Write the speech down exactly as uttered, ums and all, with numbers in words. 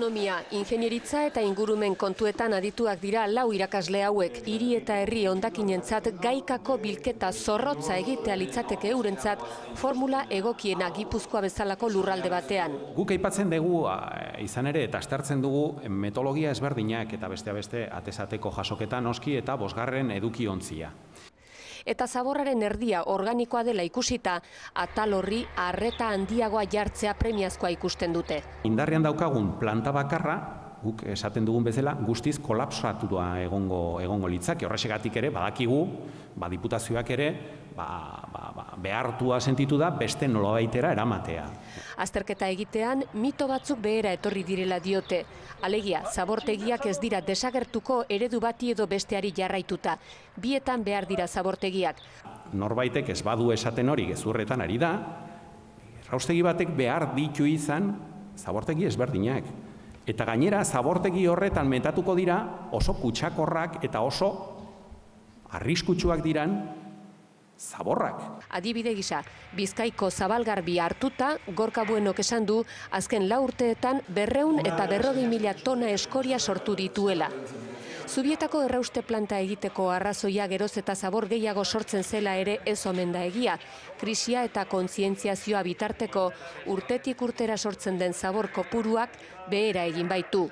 Ekonomia, ingenieritza eta ingurumen kontuetan adituak dira lau irakasle hauek. Hiri eta herri hondakinentzat gaikako bilketa zorrotza egitea litzateke eurentzat formula egokiena Gipuzkoa bezalako lurralde batean. Guk aipatzen dugu izan ere eta aztertzen dugu metodologia ezberdinak eta beste beste atesateko jasoketa noski eta bosgarren edukiontzia. Eta zaborraren erdia organikoa dela ikusita, atal horri arreta handiagoa jartzea premiazkoa ikusten dute. Indarrean daukagun planta bakarra, guk esaten dugun bezala, guztiz kolapsatua egongo egongo litzake. Horrexegatik ere, badakigu, ba, diputazioak ere, ba, ba, ba, behartua sentitu da beste nolabaitera eramatea. Azterketa egitean, mito batzuk behera etorri direla diote. Alegia, zabortegiak ez dira desagertuko eredu bati edo besteari jarraituta. Bietan behar dira zabortegiak. Norbaitek ez badu esaten hori gezurretan ari da, erraustegi batek behar ditu izan zabortegi ezberdinak. Eta gainera, zabortegi horretan metatuko dira oso kutsakorrak eta oso arriskutsuak diran zaborrak. Adibide gisa, Bizkaiko Zabalgarbi hartuta, Gorka Buenok esan du, azken lau urteetan berreun eta berrogei mila tona eskoria sortu dituela. Zubietako errauste planta egiteko arrazoia geroz eta zabor gehiago sortzen zela ere ez omen da egia. Krisia eta kontzientziazioa bitarteko urtetik urtera sortzen den zabor kopuruak behera egin baitu.